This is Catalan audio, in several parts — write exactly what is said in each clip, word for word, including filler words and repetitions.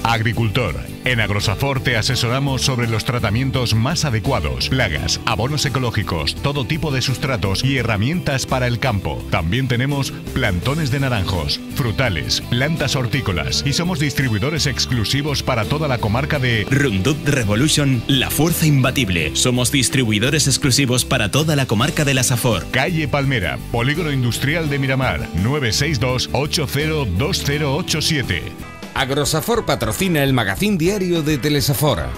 Agricultor. En Agrosafor te asesoramos sobre los tratamientos más adecuados, plagas, abonos ecológicos, todo tipo de sustratos y herramientas para el campo. También tenemos plantones de naranjos, frutales, plantas hortícolas y somos distribuidores exclusivos para toda la comarca de Roundup Revolution, la fuerza imbatible. Somos distribuidores exclusivos para toda la comarca de la Safor. Calle Palmera, Polígono Industrial de Miramar, nueve seis dos, ocho cero dos cero ocho siete. Agrosafor patrocina el magazín diario de Telesafora.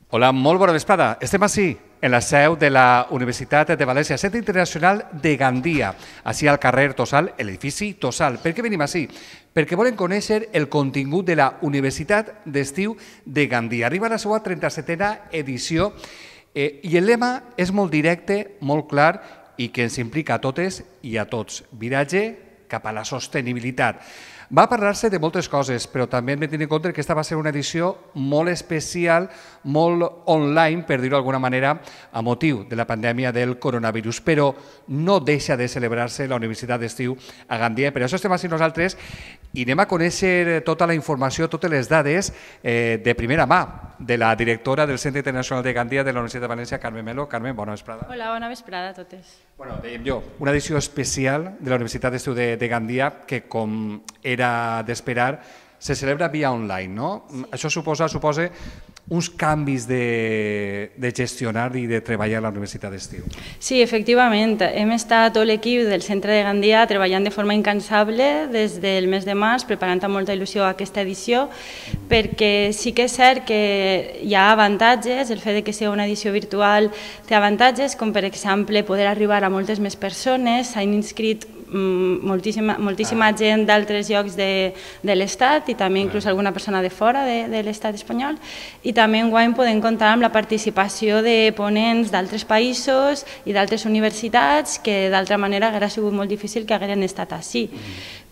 Hola, molt bona vesprada. Estem ací, en la seu de la Universitat de València, Centre Internacional de Gandia, ací al carrer Tossal, l'edifici Tossal. Per què venim ací? Perquè volen conèixer el contingut de la Universitat d'Estiu de Gandia. Arriba a la seva trenta-setena edició eh, i el lema és molt directe, molt clar i que ens implica a totes i a tots. Viratge cap a la sostenibilitat. Va parlar-se de moltes coses, però també hem de tenir en compte que aquesta va ser una edició molt especial, molt online, per dir-ho d'alguna manera, a motiu de la pandèmia del coronavirus. Però no deixa de celebrar-se la Universitat d'Estiu a Gandia. Per això estem així nosaltres i anem a conèixer tota la informació, totes les dades eh, de primera mà de la directora del Centre Internacional de Gandia de la Universitat de València, Carmen Melo. Carmen, bona vesprada. Hola, bona vesprada a totes. Bueno, dèiem jo, una edició especial de la Universitat d'Estiu de, de Gandia que, com era d'esperar, se celebra via online, no? Sí. Això suposa, suposa uns canvis de, de gestionar i de treballar a la Universitat d'Estiu. Sí, efectivament. Hem estat tot l'equip del Centre de Gandia treballant de forma incansable des del mes de març, preparant amb molta il·lusió aquesta edició, perquè sí que és cert que hi ha avantatges, el fet que sigui una edició virtual té avantatges, com per exemple poder arribar a moltes més persones, s'han inscrit moltíssima, moltíssima gent d'altres llocs de, de l'Estat i també inclús alguna persona de fora de, de l'Estat espanyol, i també enguany podem comptar amb la participació de ponents d'altres països i d'altres universitats que d'altra manera hauria sigut molt difícil que hagueren estat així.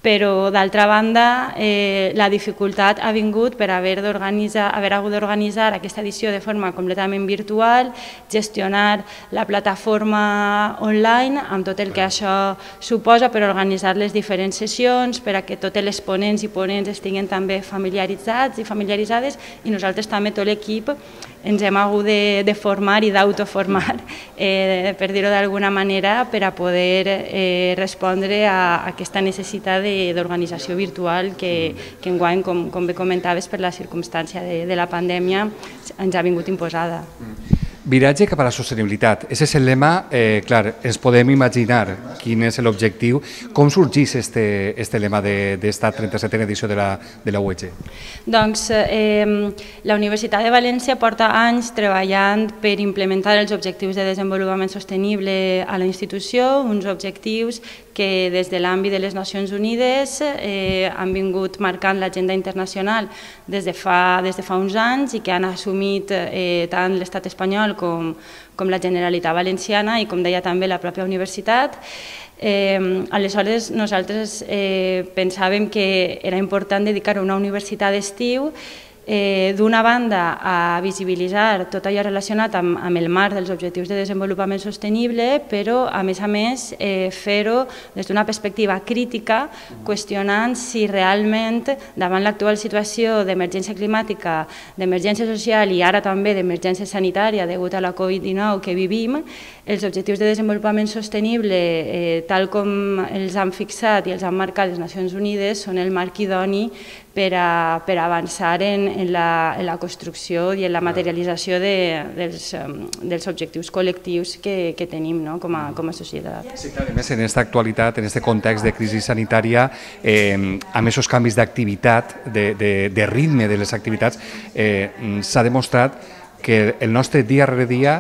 Però d'altra banda eh, la dificultat ha vingut per haver d'organitzar, haver hagut d'organitzar aquesta edició de forma completament virtual, gestionar la plataforma online amb tot el que això suposa per organitzar les diferents sessions, per a que totes les ponents i ponents estiguin també familiaritzats i familiaritzades, i nosaltres també, tot l'equip, ens hem hagut de, de formar i d'autoformar, eh, per dir-ho d'alguna manera, per a poder eh, respondre a, a aquesta necessitat d'organització virtual que, que enguany, com, com bé comentaves, per la circumstància de, de la pandèmia ens ha vingut imposada. Viratge cap a la sostenibilitat. Ese és el lema, eh, clar, ens podem imaginar quin és l'objectiu. Com sorgeix este, este lema d'esta trenta-setena edició de la, de la U E G? Doncs eh, la Universitat de València porta anys treballant per implementar els objectius de desenvolupament sostenible a la institució, uns objectius que des de l'àmbit de les Nacions Unides eh, han vingut marcant l'agenda internacional des de, fa, des de fa uns anys i que han assumit eh, tant l'estat espanyol com, com la Generalitat Valenciana i, com deia també, la pròpia universitat. Eh, aleshores, nosaltres eh, pensàvem que era important dedicar una universitat d'estiu Eh, d'una banda a visibilitzar tot allò relacionat amb, amb el marc dels objectius de desenvolupament sostenible, però a més a més eh, fer-ho des d'una perspectiva crítica, qüestionant si realment davant l'actual situació d'emergència climàtica, d'emergència social i ara també d'emergència sanitària degut a la Covid dinou que vivim, els objectius de desenvolupament sostenible, eh, tal com els han fixat i els han marcat les Nacions Unides, són el marc idoni per a, per a avançar en, en, la, en la construcció i en la materialització de, dels, dels objectius col·lectius que, que tenim, no? com, a, com a societat. Sí, clar, a més, en aquesta actualitat, en aquest context de crisi sanitària, eh, amb aquests canvis d'activitat, de, de, de ritme de les activitats, eh, s'ha demostrat que el nostre dia rere dia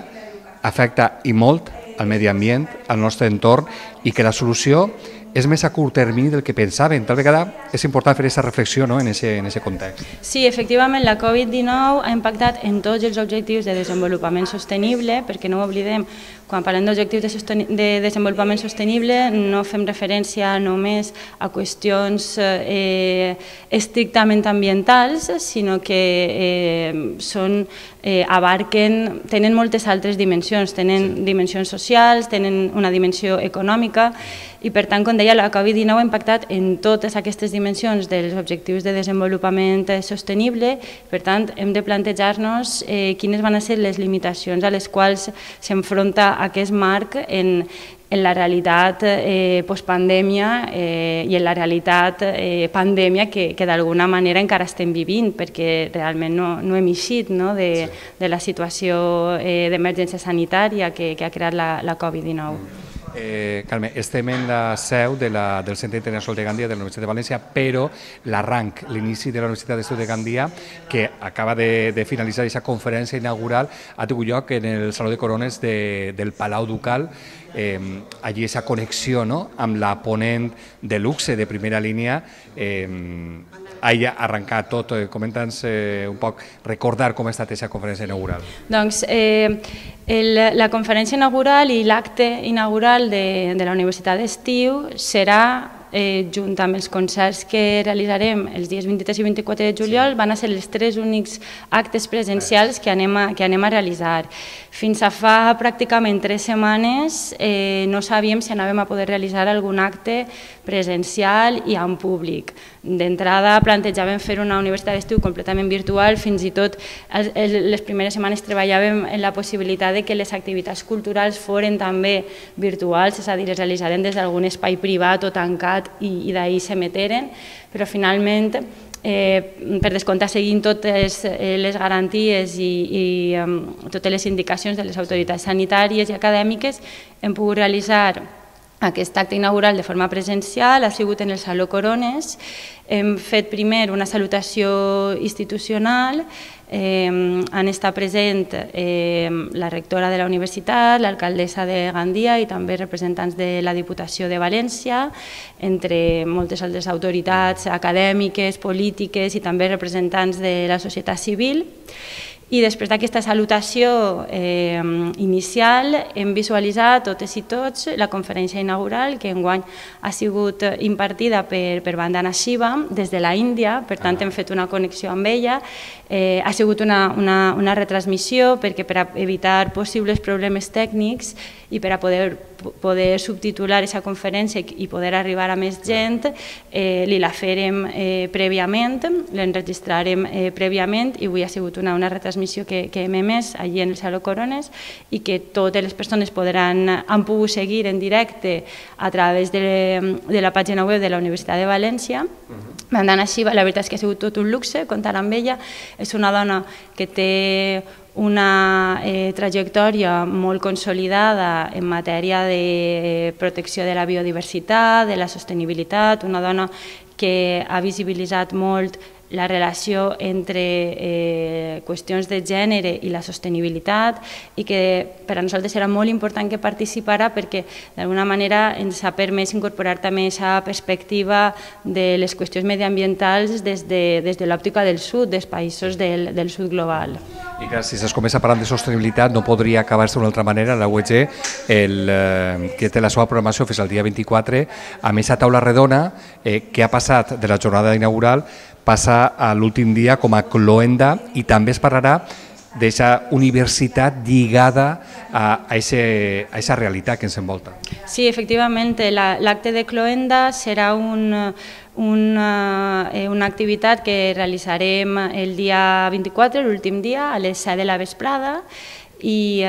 afecta i molt al medi ambient, al nostre entorn, i que la solució és més a curt termini del que pensaven. Tal vegada és important fer aquesta reflexió, no?, en aquest context. Sí, efectivament, la Covid dinou ha impactat en tots els objectius de desenvolupament sostenible, perquè no ho oblidem, quan parlem d'objectius de, de desenvolupament sostenible no fem referència només a qüestions eh, estrictament ambientals, sinó que eh, són, eh, abarquen, tenen moltes altres dimensions, tenen sí. dimensions socials, tenen una dimensió econòmica, i per tant, com deia, la Covid dinou ha impactat en totes aquestes dimensions dels objectius de desenvolupament sostenible. Per tant, hem de plantejar-nos eh, quines van ser les limitacions a les quals s'enfronta aquest marc en, en la realitat eh, postpandèmia eh, i en la realitat eh, pandèmia que, que d'alguna manera encara estem vivint, perquè realment no, no hem eixit no, de, de la situació eh, d'emergència sanitària que, que ha creat la, la Covid dinou. Eh, Carme, estem en la seu de la, del Centre Internacional de Gandia de la Universitat de València, però l'arranc, l'inici de la Universitat d'Estudis de Gandia, que acaba de, de finalitzar aquesta conferència inaugural, ha tingut lloc en el Saló de Corones de, del Palau Ducal. Eh, allí aquesta connexió no? amb la ponent de luxe de primera línia eh, hagi arrencat tot. Comenta'ns eh, un poc, recordar com ha estat aquesta conferència inaugural. Doncs eh, el, la conferència inaugural i l'acte inaugural de, de la Universitat d'Estiu serà Eh, junt amb els concerts que realitzarem els dies vint-i-tres i vint-i-quatre de juliol, van a ser els tres únics actes presencials que anem a, que anem a realitzar. Fins a fa pràcticament tres setmanes eh, no sabíem si anàvem a poder realitzar algun acte presencial i en públic. D'entrada plantejàvem fer una universitat d'estiu completament virtual, fins i tot el, el, les primeres setmanes treballàvem en la possibilitat de que les activitats culturals foren també virtuals, és a dir, es realitzaren des d'algun espai privat o tancat i, i d'ahir s'emeteren, però finalment, eh, per descomptat, seguint totes eh, les garanties i, i um, totes les indicacions de les autoritats sanitàries i acadèmiques, hem pogut realitzar aquest acte inaugural de forma presencial, ha sigut en el Saló Corones. Hem fet primer una salutació institucional, eh, han estat present eh, la rectora de la universitat, l'alcaldessa de Gandia i també representants de la Diputació de València, entre moltes altres autoritats acadèmiques, polítiques i també representants de la societat civil. I després d'aquesta salutació eh, inicial hem visualitzat totes i tots la conferència inaugural que enguany ha sigut impartida per, per Vandana Shiva des de la Índia, per tant hem fet una connexió amb ella. Eh, ha sigut una, una, una retransmissió perquè per evitar possibles problemes tècnics i per a poder, poder subtitular aquesta conferència i poder arribar a més gent, eh, li la farem eh, prèviament, l'enregistrarem eh, prèviament i avui ha sigut una, una retransmissió que, que hem emès allí en el Saló Corones i que totes les persones podran, han pogut seguir en directe a través de, de la pàgina web de la Universitat de València. Vandana Shiva, la veritat és que ha sigut tot un luxe comptar amb ella. És una dona que té una eh, trajectòria molt consolidada en matèria de protecció de la biodiversitat, de la sostenibilitat, una dona que ha visibilitzat molt la relació entre eh, qüestions de gènere i la sostenibilitat i que per a nosaltres era molt important que participara perquè d'alguna manera ens ha permès incorporar també aquesta perspectiva de les qüestions mediambientals des de, des de l'òptica del sud, dels països del, del sud global. I clar, si es comença parlant de sostenibilitat no podria acabar-se d'una altra manera. La U E G, el, eh, que té la seva programació fins al dia vint-i-quatre, amb aquesta taula redona eh, que ha passat de la jornada inaugural passa a l'últim dia com a cloenda i també es parlarà d'aquesta universitat lligada a aquesta realitat que ens envolta. Sí, efectivament, l'acte de cloenda serà un, una, una activitat que realitzarem el dia vint-i-quatre, l'últim dia, a les set de la vesprada, i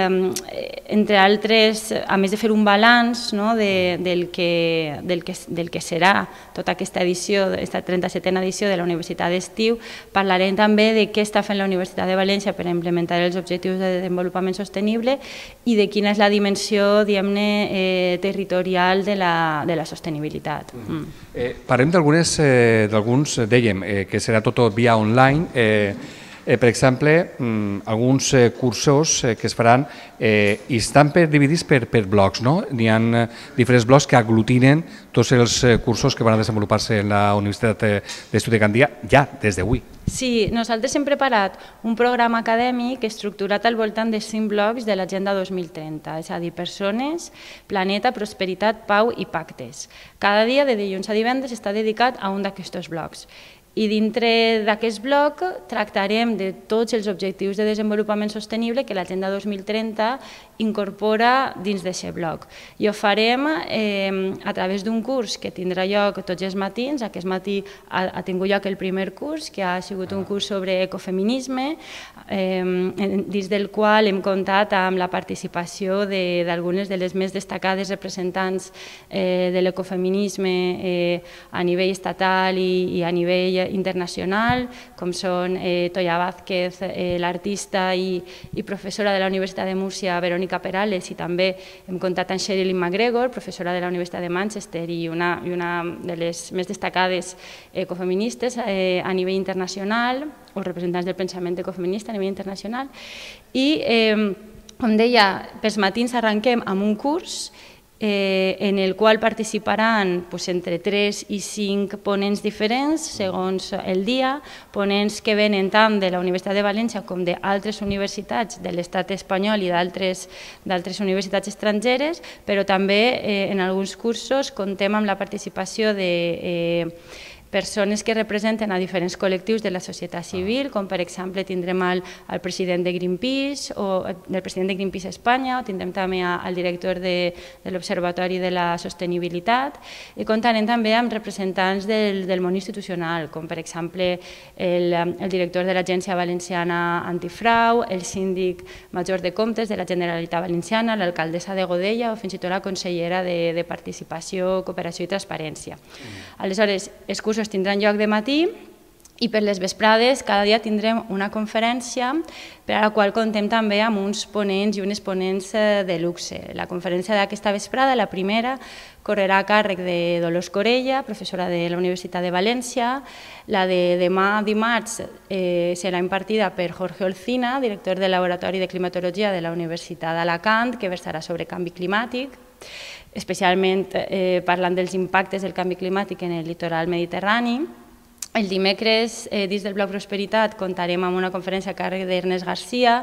entre altres, a més de fer un balanç no, de, del, que, del, que, del que serà tota aquesta edició, aquesta trenta-setena edició de la Universitat d'Estiu, parlarem també de què està fent la Universitat de València per implementar els objectius de desenvolupament sostenible i de quina és la dimensió, diguem-ne, eh, territorial de la, de la sostenibilitat. Mm. Eh, parlem d'alguns, eh, dèiem, eh, que serà tot via online. Eh, Eh, per exemple, mm, alguns eh, cursos eh, que es faran eh, i estan per, dividits per, per blocs, no? N'hi ha eh, diferents blocs que aglutinen tots els eh, cursos que van a desenvolupar-se en la Universitat d'Estudis de Gandia ja des d'avui. Sí, nosaltres hem preparat un programa acadèmic estructurat al voltant de cinc blocs de l'Agenda dos mil trenta, és a dir, persones, planeta, prosperitat, pau i pactes. Cada dia, de dilluns a divendres, està dedicat a un d'aquests blocs. I dintre d'aquest bloc tractarem de tots els objectius de desenvolupament sostenible que l'Agenda dos mil trenta incorpora dins d'aquest bloc. I ho farem eh, a través d'un curs que tindrà lloc tots els matins. Aquest matí ha, ha tingut lloc el primer curs, que ha sigut un curs sobre ecofeminisme, eh, dins del qual hem comptat amb la participació d'algunes de, de les més destacades representants eh, de l'ecofeminisme eh, a nivell estatal i, i a nivell internacional, com són eh, Toya Vázquez, eh, l'artista i, i professora de la Universitat de Múrcia, Verónica Perales, i també hem comptat amb Sherilyn McGregor, professora de la Universitat de Manchester i una, i una de les més destacades ecofeministes eh, a nivell internacional, o representants del pensament ecofeminista a nivell internacional. I, eh, com deia, pels matins arrenquem amb un curs Eh, en el qual participaran pues, entre tres i cinc ponents diferents, segons el dia, ponents que venen tant de la Universitat de València com d'altres universitats de l'estat espanyol i d'altres universitats estrangeres, però també eh, en alguns cursos contem amb la participació de eh, persones que representen a diferents col·lectius de la societat civil, com per exemple tindrem el, el president de Greenpeace o el president de Greenpeace Espanya, o tindrem també el director de, de l'Observatori de la Sostenibilitat, i comptarem també amb representants del, del món institucional, com per exemple el, el director de l'Agència Valenciana Antifrau, el síndic major de comptes de la Generalitat Valenciana, l'alcaldessa de Godella o fins i tot la consellera de, de Participació, Cooperació i Transparència. Aleshores, els cursos tindran lloc de matí i per les vesprades cada dia tindrem una conferència per a la qual contem també amb uns ponents i unes ponents de luxe. La conferència d'aquesta vesprada, la primera, correrà a càrrec de Dolors Corella, professora de la Universitat de València. La de demà dimarts eh, serà impartida per Jorge Olcina, director del Laboratori de Climatologia de la Universitat d'Alacant, que versarà sobre canvi climàtic, especialment eh, parlant dels impactes del canvi climàtic en el litoral mediterrani. El dimecres, eh, dins del bloc Prosperitat, comptarem amb una conferència a càrrec d'Ernest Garcia,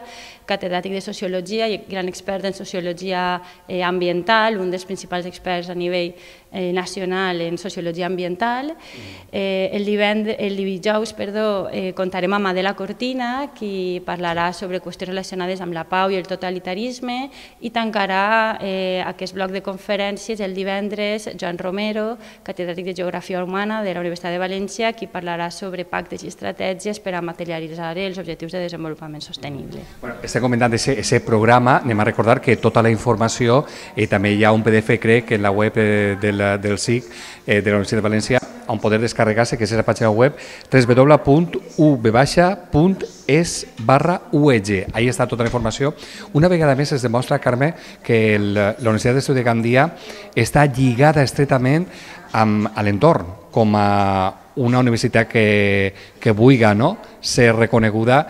catedràtic de Sociologia i gran expert en Sociologia eh, Ambiental, un dels principals experts a nivell eh, nacional en Sociologia Ambiental. Eh, el, el dijous perdó, eh, comptarem amb Adela Cortina, qui parlarà sobre qüestions relacionades amb la pau i el totalitarisme, i tancarà eh, aquest bloc de conferències el divendres Joan Romero, catedràtic de Geografia Humana de la Universitat de València, qui parlarà sobre pactes i estratègies per a materialitzar els objectius de desenvolupament sostenible. Bueno, estem comentant aquest programa, anem a recordar que tota la informació, i també hi ha un P D F, crec, en la web del, del S I C eh, de la Universitat de València, on poder descarregar-se, que és la pàgina web w w w punt u v punt es barra u e g. Ahí està tota la informació. Una vegada més es demostra, Carme, que el, la Universitat d'Estudi de Gandia està lligada estretament amb l'entorn, com a una universitat que, que vulgui no? ser reconeguda.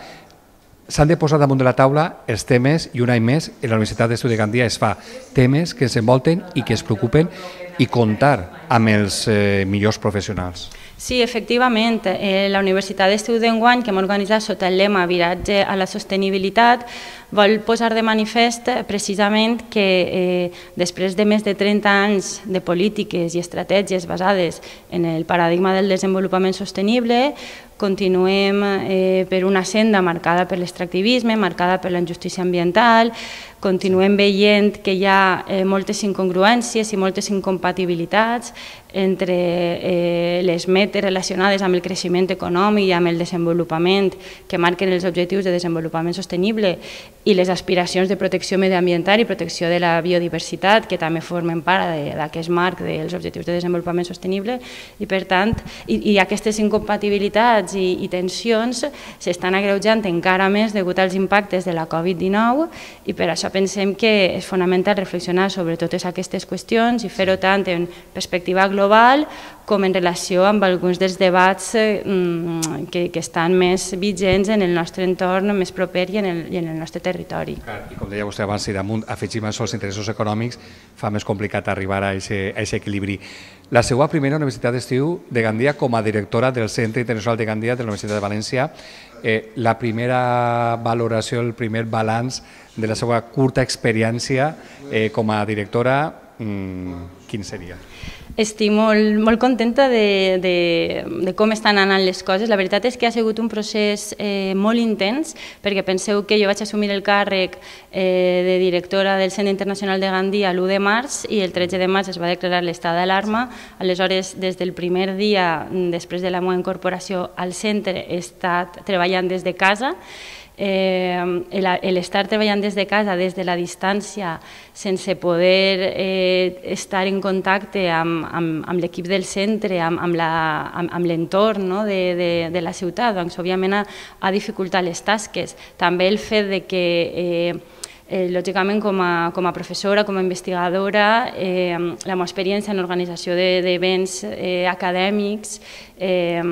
S'han de posar damunt de la taula els temes, i un any més en la Universitat d'Estudi de Gandia es fa temes que ens envolten i que es preocupen, i comptar amb els eh, millors professionals. Sí, efectivament, eh, la Universitat d'Estudi d'enguany, que hem organitzat sota el lema Viratge a la sostenibilitat, vol posar de manifest precisament que eh, després de més de trenta anys de polítiques i estratègies basades en el paradigma del desenvolupament sostenible, continuem eh, per una senda marcada per l'extractivisme, marcada per la injustícia ambiental, continuem veient que hi ha eh, moltes incongruències i moltes incompatibilitats entre eh, les metes relacionades amb el creixement econòmic i amb el desenvolupament que marquen els objectius de desenvolupament sostenible i les aspiracions de protecció mediambiental i protecció de la biodiversitat, que també formen part d'aquest marc dels objectius de desenvolupament sostenible, i per tant, i, i aquestes incompatibilitats i, i tensions s'estan agreujant encara més degut als impactes de la Covid dinou, i per això pensem que és fonamental reflexionar sobre totes aquestes qüestions i fer-ho tant en perspectiva global com en relació amb alguns dels debats que estan més vigents en el nostre entorn més proper i en el nostre territori. I com deia vostè abans, si damunt afegim això els interessos econòmics, fa més complicat arribar a aquest equilibri. La seva primera universitat d'estiu de Gandia com a directora del Centre Internacional de Gandia de la Universitat de València, la primera valoració, el primer balanç de la seva curta experiència com a directora, quin seria? Estic molt, molt contenta de, de, de com estan anant les coses. La veritat és que ha sigut un procés eh, molt intens, perquè penseu que jo vaig assumir el càrrec eh, de directora del Centre Internacional de Gandia l'u de març i el tretze de març es va declarar l'estat d'alarma. Aleshores, des del primer dia, després de la meva incorporació al centre, he estat treballant des de casa. Eh, l'estar treballant des de casa, des de la distància, sense poder eh, estar en contacte amb, amb, amb l'equip del centre, amb, amb, la, amb, amb l'entorn, no? de, de, de la ciutat, doncs òbviament ha, ha dificultat les tasques. També el fet de que eh, Eh, lògicament, com a, com a professora, com a investigadora, eh, la meva experiència en l'organització d'events eh, acadèmics eh,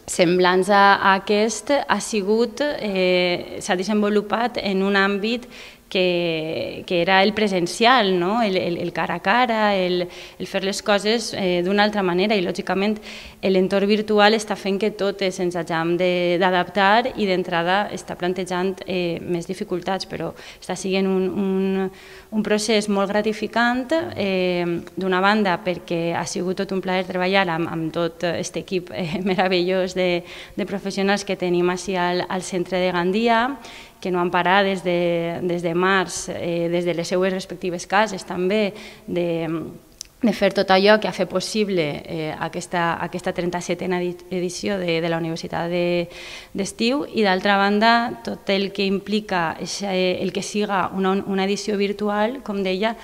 semblants a aquest ha sigut, eh, s'ha desenvolupat en un àmbit que, que era el presencial, no? el, el, el cara a cara, el, el fer les coses eh, d'una altra manera i, lògicament, l'entorn virtual està fent que totes ens hagin d'adaptar i d'entrada està plantejant eh, més dificultats, però està sent un, un, un procés molt gratificant, eh, d'una banda perquè ha sigut tot un plaer treballar amb, amb tot aquest equip eh, meravellós de, de professionals que tenim així al, al centre de Gandia, que no han parat des de, des de març, eh, des de les seues respectives cases també, de, de fer tot allò que ha fet possible eh, aquesta, aquesta trenta-setena edició de, de la Universitat d'Estiu de, i d'altra banda tot el que implica el que siga una, una edició virtual, com deia,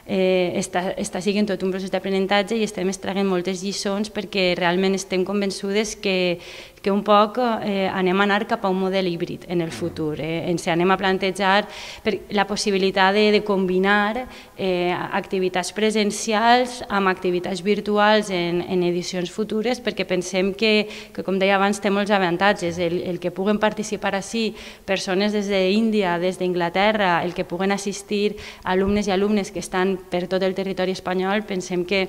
Eh, està, està sent tot un procés d'aprenentatge i estem extraient moltes lliçons perquè realment estem convençudes que, que un poc eh, anem a anar cap a un model híbrid en el futur. Eh? Ens anem a plantejar per la possibilitat de, de combinar eh, activitats presencials amb activitats virtuals en, en edicions futures perquè pensem que, que, com deia abans, té molts avantatges. El, el que puguen participar així persones des d'Índia, des d'Inglaterra, el que puguen assistir alumnes i alumnes que estan per tot el territori espanyol, pensem que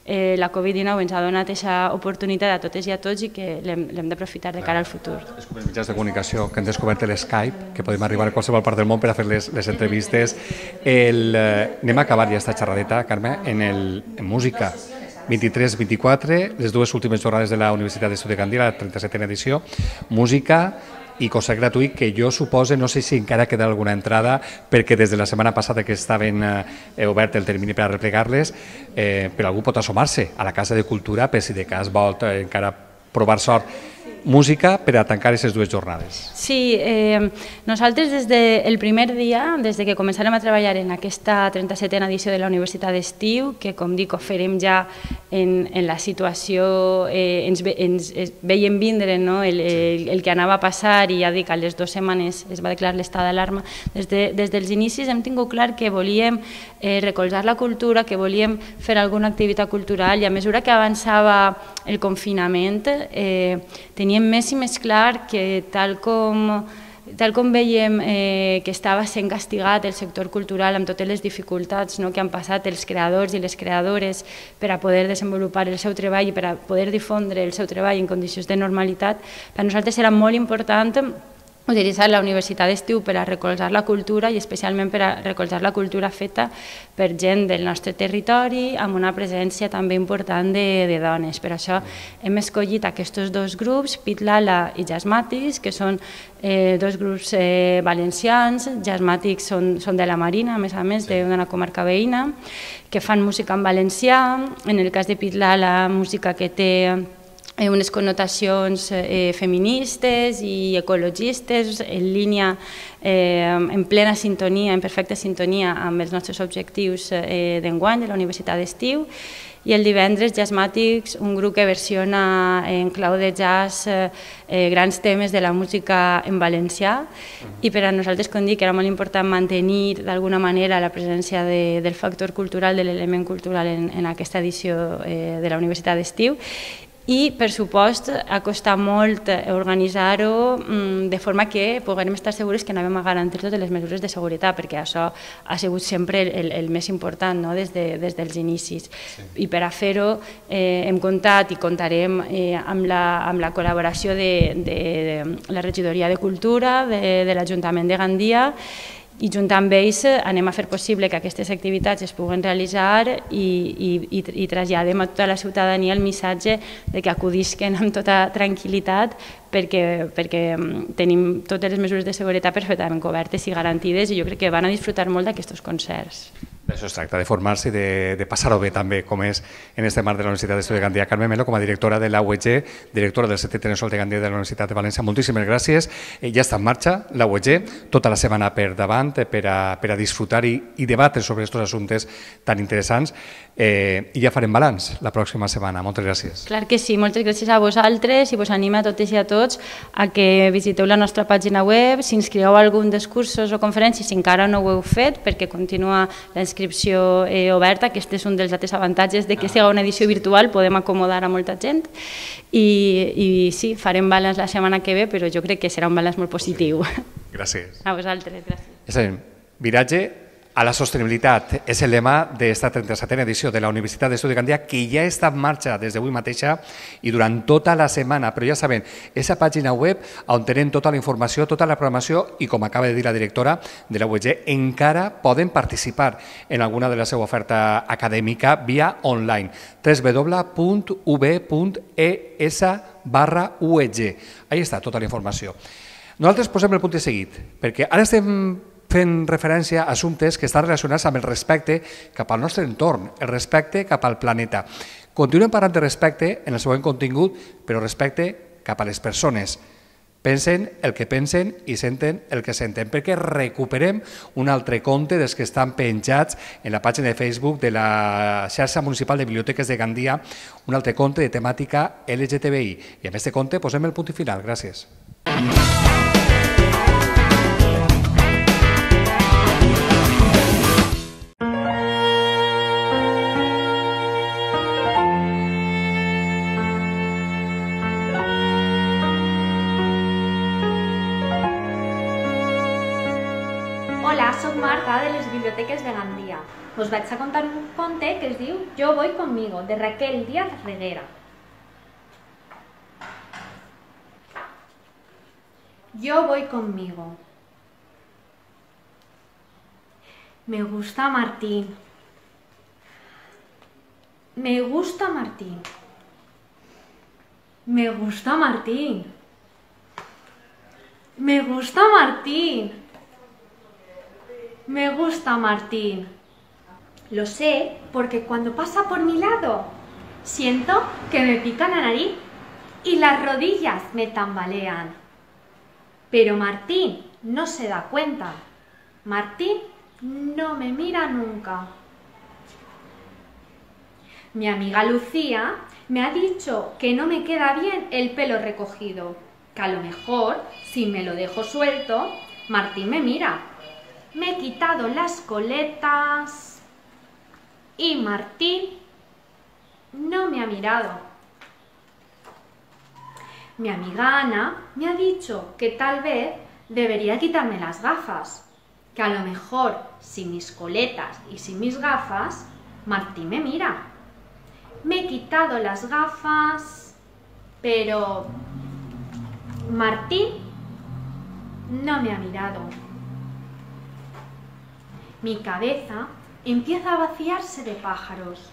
eh, la Covid dinou ens ha donat aquesta oportunitat a totes i a tots i que l'hem d'aprofitar de cara al futur. És com els mitjans de comunicació que han descobert l'Skype, que podem arribar a qualsevol part del món per a fer les, les entrevistes. El, eh, anem a acabar ja esta xerradeta, Carme, en, el, en música. vint-i-tres vint-i-quatre, les dues últimes jornades de la Universitat d'Estiu de Gandia, la trenta-setena edició, música i concert gratuït que jo suposo, no sé si encara queda alguna entrada, perquè des de la setmana passada que estaven eh, obert el termini per a replegar-les, eh, però algú pot assomar-se a la Casa de Cultura per si de cas vol eh, encara provar sort. Música per a tancar aquestes dues jornades. Sí, eh, nosaltres des del primer dia, des de que començarem a treballar en aquesta trenta-setena edició de la Universitat d'Estiu, que com dic ho farem ja en, en la situació, eh, ens, ens veiem vindre, no? el, el, el que anava a passar i ja dic, a les dues setmanes es va declarar l'estat d'alarma. Des, de, des dels inicis hem tingut clar que volíem eh, recolzar la cultura, que volíem fer alguna activitat cultural i a mesura que avançava el confinament eh, teníem més i més clar que tal com, tal com veiem eh, que estava sent castigat el sector cultural amb totes les dificultats no, que han passat els creadors i les creadores per a poder desenvolupar el seu treball i per a poder difondre el seu treball en condicions de normalitat, per a nosaltres era molt important utilitzar la Universitat d'Estiu per a recolzar la cultura i especialment per a recolzar la cultura feta per gent del nostre territori amb una presència també important de, de dones. Per això hem escollit aquests dos grups, Pitlala i Jazzmatics, que són eh, dos grups eh, valencians. Jazzmatics són, són de la Marina, a més a més, d'una comarca veïna, que fan música en valencià. En el cas de Pitlala, música que té unes connotacions eh, feministes i ecologistes en línia, eh, en plena sintonia, en perfecta sintonia amb els nostres objectius eh, d'enguany de la Universitat d'Estiu. i el divendres Jazzmatics, un grup que versiona en clau de jazz eh, eh, grans temes de la música en valencià, i per a nosaltres, com dic, era molt important mantenir d'alguna manera la presència de, del factor cultural, de l'element cultural en, en aquesta edició eh, de la Universitat d'Estiu. I, per supost, ha costat molt organitzar-ho de forma que puguem estar segurs que anàvem a garantir totes les mesures de seguretat, perquè això ha sigut sempre el, el més important, no? des, de, des dels inicis. Sí. I per a fer-ho eh, hem comptat i comptarem eh, amb, la, amb la col·laboració de, de, de la Regidoria de Cultura, de, de l'Ajuntament de Gandia, i junt amb ells anem a fer possible que aquestes activitats es puguen realitzar i, i, i traslladem a tota la ciutadania el missatge de que acudisquen amb tota tranquil·litat perquè, perquè tenim totes les mesures de seguretat perfectament cobertes i garantides i jo crec que van a disfrutar molt d'aquests concerts. D'això es tracta, de formar-se i de, de passar-ho bé també, com és en este marc de la Universitat d'Estudi de Gandia. Carme Melo, com a directora de la U E G, directora del Centre Internacional de Gandia de la Universitat de València, moltíssimes gràcies. Eh, ja està en marxa la U E G, tota la setmana per davant, eh, per, a, per a disfrutar i, i debatre sobre aquests assumptes tan interessants. Eh, I ja farem balanç la pròxima setmana. Moltes gràcies. Clar que sí, moltes gràcies a vosaltres i vos animo a totes i a tots a que visiteu la nostra pàgina web, si inscriveu a algun dels cursos o conferències, si encara no ho heu fet, perquè continua la inscripció eh, oberta, que aquest és un dels altres avantatges de que sigui una edició virtual, podem acomodar a molta gent i, i sí, farem balanç la setmana que ve, però jo crec que serà un balanç molt positiu. Gràcies. A vosaltres, gràcies. És a dir, viratge a la sostenibilitat és el lema d'esta trenta-setena edició de la Universitat d'Estudi de Gandia, que ja està en marxa des d'avui mateixa i durant tota la setmana, però ja saben, aquesta pàgina web on tenen tota la informació, tota la programació i, com acaba de dir la directora de la U E G, encara poden participar en alguna de la seva oferta acadèmica via online, w w w punt u b punt e s barra u e g. Ahí està tota la informació. Nosaltres posem el punt de seguit, perquè ara estem fent referència a assumptes que estan relacionats amb el respecte cap al nostre entorn, el respecte cap al planeta. Continuem parlant de respecte en el següent contingut, però respecte cap a les persones. Pensen el que pensen i senten el que senten, perquè recuperem un altre conte dels que estan penjats en la pàgina de Facebook de la xarxa municipal de biblioteques de Gandia, un altre conte de temàtica L G T B I. I amb aquest conte posem el punt i final. Gràcies. Hola, soc Marta de les Biblioteques de Gandia. Us vaig a contar un conte que es diu Yo voy conmigo, de Raquel Díaz Reguera. Yo voy conmigo. Me gusta Martín. Me gusta Martín. Me gusta Martín. Me gusta Martín. Me gusta Martín. Lo sé porque cuando pasa por mi lado siento que me pica la nariz y las rodillas me tambalean. Pero Martín no se da cuenta. Martín no me mira nunca. Mi amiga Lucía me ha dicho que no me queda bien el pelo recogido, que a lo mejor, si me lo dejo suelto, Martín me mira. Me he quitado las coletas y Martín no me ha mirado. Mi amiga Ana me ha dicho que tal vez debería quitarme las gafas, que a lo mejor sin mis coletas y sin mis gafas, Martín me mira. Me he quitado las gafas, pero Martín no me ha mirado. Mi cabeza empieza a vaciarse de pájaros.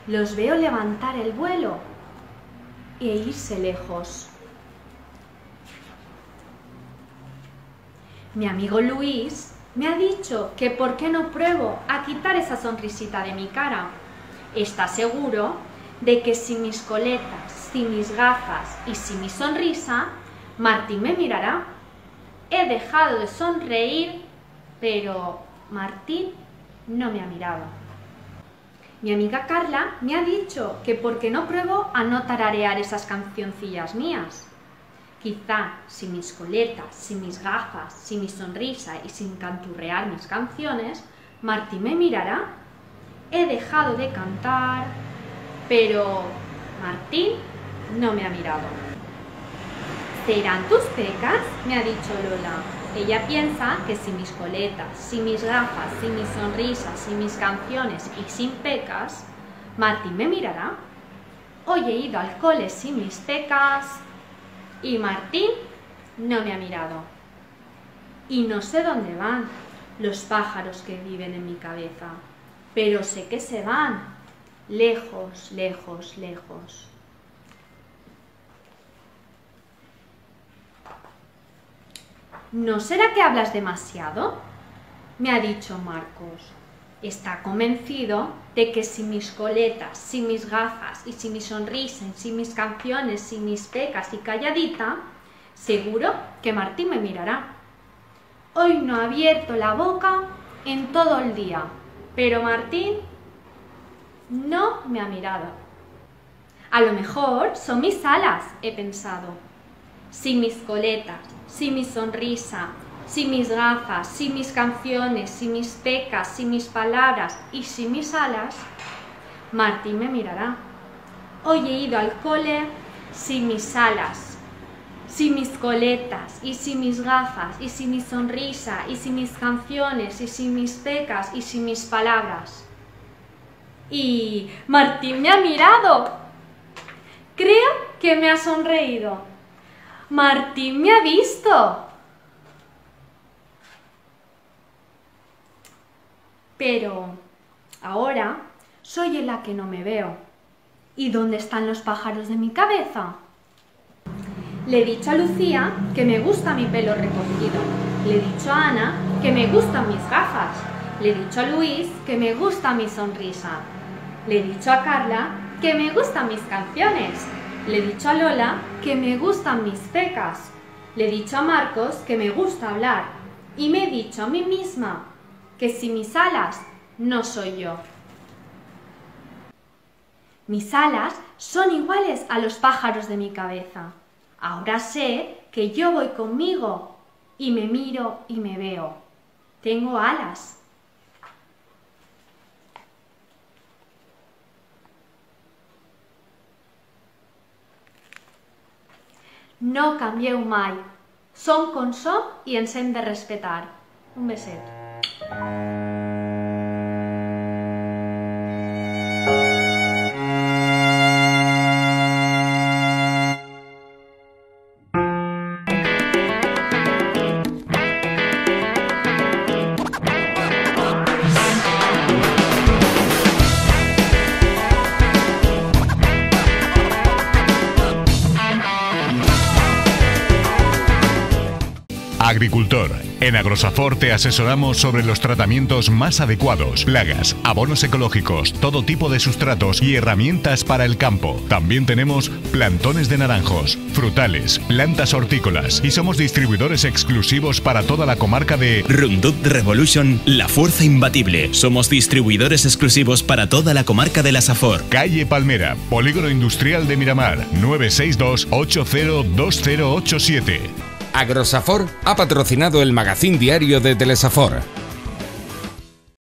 Los veo levantar el vuelo e irse lejos. Mi amigo Luis me ha dicho que por qué no pruebo a quitar esa sonrisita de mi cara. Está seguro de que sin mis coletas, sin mis gafas y sin mi sonrisa, Martín me mirará. He dejado de sonreír, pero Martín no me ha mirado. Mi amiga Carla me ha dicho que por qué no pruebo a no tararear esas cancioncillas mías. Quizá sin mis coletas, sin mis gafas, sin mi sonrisa y sin canturrear mis canciones, Martín me mirará. He dejado de cantar, pero Martín no me ha mirado. ¿Serán tus pecas?, me ha dicho Lola. Ella piensa que sin mis coletas, sin mis gafas, sin mis sonrisas, sin mis canciones y sin pecas, Martín me mirará. Hoy he ido al cole sin mis pecas y Martín no me ha mirado. Y no sé dónde van los pájaros que viven en mi cabeza, pero sé que se van, lejos, lejos, lejos. ¿No será que hablas demasiado?, me ha dicho Marcos. Está convencido de que sin mis coletas, sin mis gafas y sin mi sonrisa, sin mis canciones, sin mis pecas y calladita, seguro que Martín me mirará. Hoy no ha abierto la boca en todo el día, pero Martín no me ha mirado. A lo mejor son mis alas, he pensado. Sin mis coletas, sin mi sonrisa, sin mis gafas, sin mis canciones, sin mis pecas, sin mis palabras y sin mis alas, Martín me mirará. Hoy he ido al cole sin mis alas, sin mis coletas y sin mis gafas y sin mi sonrisa y sin mis canciones y sin mis pecas y sin mis palabras. Y Martín me ha mirado. Creo que me ha sonreído. Martín me ha visto. Pero ahora soy en la que no me veo. ¿Y dónde están los pájaros de mi cabeza? Le he dicho a Lucía que me gusta mi pelo recogido. Le he dicho a Ana que me gustan mis gafas. Le he dicho a Luis que me gusta mi sonrisa. Le he dicho a Carla que me gustan mis canciones. Le he dicho a Lola que me gustan mis pecas. Le he dicho a Marcos que me gusta hablar. Y me he dicho a mí misma que sin mis alas no soy yo. Mis alas son iguales a los pájaros de mi cabeza. Ahora sé que yo voy conmigo y me miro y me veo. Tengo alas. No canvieu mai. Som com som i ens hem de respetar. Un beset. Agricultor. En Agrosafor te asesoramos sobre los tratamientos más adecuados, plagas, abonos ecológicos, todo tipo de sustratos y herramientas para el campo. También tenemos plantones de naranjos, frutales, plantas hortícolas y somos distribuidores exclusivos para toda la comarca de Roundup Revolution, la fuerza imbatible. Somos distribuidores exclusivos para toda la comarca de la Safor. Calle Palmera, Polígono Industrial de Miramar, nueve seis dos, ocho cero dos cero ocho siete. Agrosafor ha patrocinado el magazín diario de Telesafor.